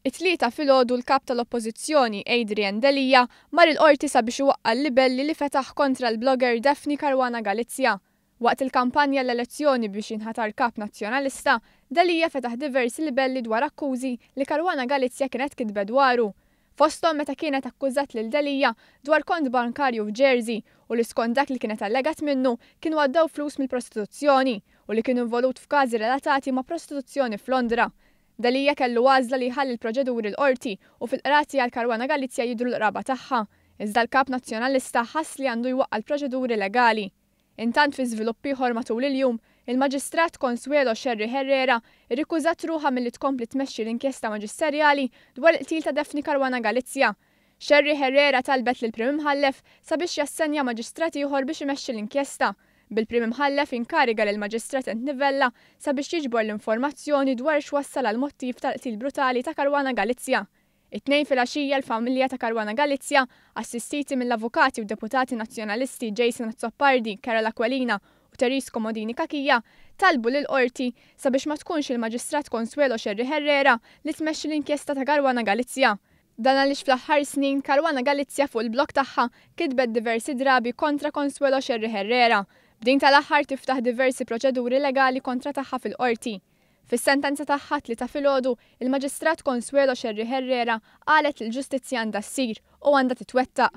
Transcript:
It-Tlieta filgħodu l-Kap tal-Oppożizzjoni Adrian Delia mar il-Qorti sabiex iwaqqa' l-libelli li fetaħ kontra l-blogger Daphne Caruana Galizia. Waqt il-kampanja għall-elezzjoni biex jinħatar Kap Nazzjonalista, Delia fetaħ diversi libelli dwar akkużi li Caruana Galizia kienet kitbet dwaru. Fosthom meta kienet akkużat lil Delia dwar kont bankarju f'Jersey u li skont dak li kienet allegat minnu kienu għaddew flus mill-prostituzzjoni u li kien involut f'każi relatati ma' prostituzzjoni f'Londra. Delia kellu għażla li jħalli l-proċeduri l-Qorti u fil-qrati għal Caruana Galizia jidhru l-qraba tagħha, iżda l-Kap Nazzjonalista ħass li għandu jwaqqa' l-proċeduri legali. Intant fi żvilupp ieħor matul il-jum, il-Maġistrat Consuelo Scerri Herrera rrikużat ruħha milli tkompli tmexxi l-inkjesta maġisterjali dwar il-qtil ta' Daphne Caruana Galizia. Scerri Herrera talbet lill-Prim Imħallef sabiex jassenja maġistrat ieħor biex imexxi l-inkjesta, bil-Prim Imħallef inkariga lill-Maġistrat Anthony Vella sabiex jiġbor l-informazzjoni dwar x'wassal għall-mottiv tal-qtil brutali ta' Caruana Galizia. It-Tnejn filgħaxija l-familja ta' Caruana Galizia, assistiti mill-avukati u deputati Nazzjonalisti Jason Azzopardi, Karol Aquilina u Therese Comodini Cachia, talbu lill-Qorti sabiex ma tkunx il-Maġistrat Consuelo Scerri Herrera li tmexxi l-inkjesta ta' Caruana Galizia. Dan għaliex fl-aħħar snin Caruana Galizia fuq il-blog tagħha kitbet diversi drabi kontra Consuelo Scerri Herrera, b'din tal-aħħar tiftaħ diversi proċeduri legali kontra tagħha fil-Qorti. Fis-sentenza tagħha t-Tlieta filgħodu, il-Maġistrat Consuelo Scerri Herrera qalet li l-ġustizzja għandha ssir u għandha titwettaq.